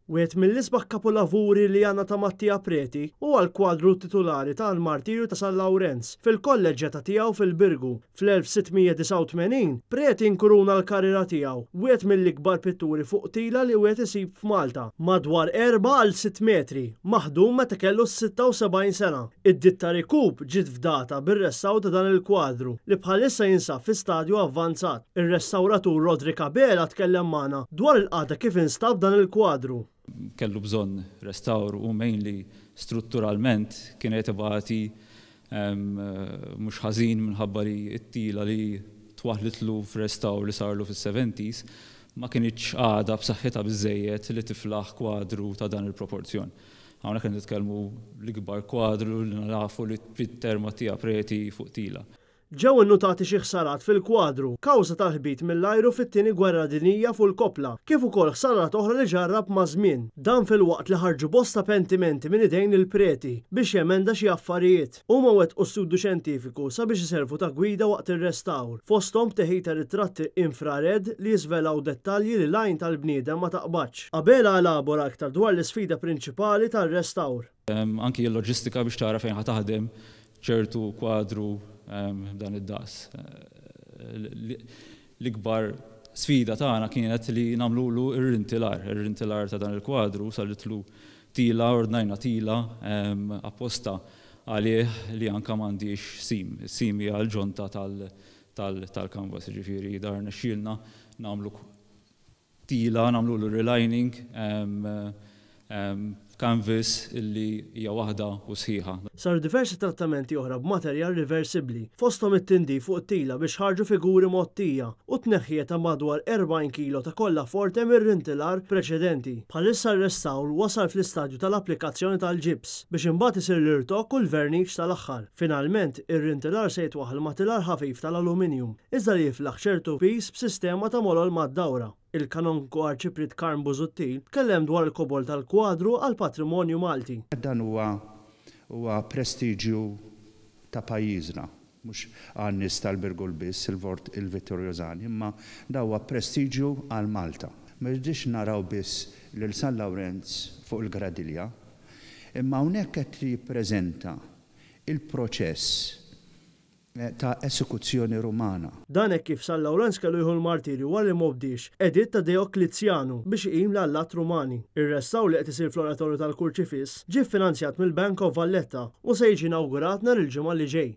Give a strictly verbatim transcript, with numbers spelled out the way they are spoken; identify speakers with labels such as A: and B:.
A: Wieħed mill-isbaħ kapolavuri li għandna ta' Mattia Preti huwa l-kwadru titulari tal-Martirju ta' San Lawrenz fil-kolleġġjata tiegħu fil-Birgu. Fl-elf sitt mija disgħa u tmenin Preti nkuruna l-karriera tiegħu, wieħed mill-ikbar pitturi fuq tila li wieħed isib f'Malta, madwar erba' għal sitt metri, maħdum meta kellu sitta u sebgħin sena. Id-ditta Rikup ġiet fdata bir-restawr ta' dan il-kwadru li bħalissa jinsab fi stadju avvanzat. Ir-restawratur Roderick Abela tkellem magħna dwar il-qagħda kif instab dan il-kwadru.
B: Kellu bżonn restawr u mainly strutturalment kienet ibati mhux ħażin minħabba li t-tila li twaħlitlu f'restawr li sarlu fis-seventies ma kinitx għadha b'saħħitha biżejjed li tiflaħ kwadru ta' dan il-proporzjon. Hawnhekk qed nitkellmu l-ikbar kwadru li nafu li pitter Mattia Preti fuq tila.
A: Ġew innutati xi ħsarat fil-kwadru kawża tal-ħbit mill-ajru fit-Tieni Gwerra Dinjija fuq il-koppla, kif ukoll ħsarat oħra li ġarrab maż-żmien. Dan filwaqt li ħarġu bosta pentimenti minn idejn il-Preti biex jemenda xi affarijiet. Huma wettqu studju xjentifiku sabiex iservu ta' gwida waqt ir-restawr, fosthom teħid ta' ritratti infrared li jiżvelaw dettalji li l-għajn tal-bniedem ma taqbadx. Abela elabora aktar dwar l-isfida prinċipali tal-restawr.
B: Anki l-loġistika biex tara fejn ħa taħdem ċertu kwadru dan id-daqs. L-ikbar sfida tagħna kienet li nagħmlulu ir-rintilar, ir-rintilar ta' dan il-kwadru saritlu tila, ordnajna tila apposta għalih li anka m'għandix seam. Seam hija l-ġonta tal-canvas, ġifieri dar nexxielna nagħmlu tila, nagħmlu relining, canvas illi hija waħda u sħiħa.
A: Saru diversi trattamenti oħra b'materjal riversibbli, fosthom it-tindif fuq tila biex ħarġu figuri mgħottija u tneħħija ta' madwar erbgħin kilo ta' kolla forte mir-rintilar preċedenti. Bħalissa r-restawr wasal fl-istadju tal-applikazzjoni tal-ġibs biex imbagħad isir l-irtokk u l-verniċ tal-aħħar. Finalment, ir-rintilar se jitwaħħal ma' tilar ħafif tal-aluminium, iżda li jiflaħ ċertu pis b'sistema ta' molol mad-dawra. Il-Kanonku Arċipriet Karm Busuttil tkellem dwar il-kobor tal-kwadru għal patrimonju Malti.
C: Dan huwa huwa prestiġju ta' pajjiżna, mhux għan-nies tal-Birgu biss, il-Vort il-Vittorjożani, imma da huwa prestiġju għal Malta. Ma rridix naraw biss lil San Lawrenz fuq il-gradilja, imma hawnhekk qed jippreżenta il-proċess ta' esekuzzjoni rumana.
A: Dan hekk kif San Lawrenz kellu jieħu l-martirju wara li m'obdiex editt ta' Dioklizjanu biex iqim l-allat Rumani. Ir-restawr li qed isir fl-Oratorju tal-Kurċifiss ġie finanzjat mill-Bank of Valletta u se jiġi inawgurat nhar il-Ġimgħa li ġej.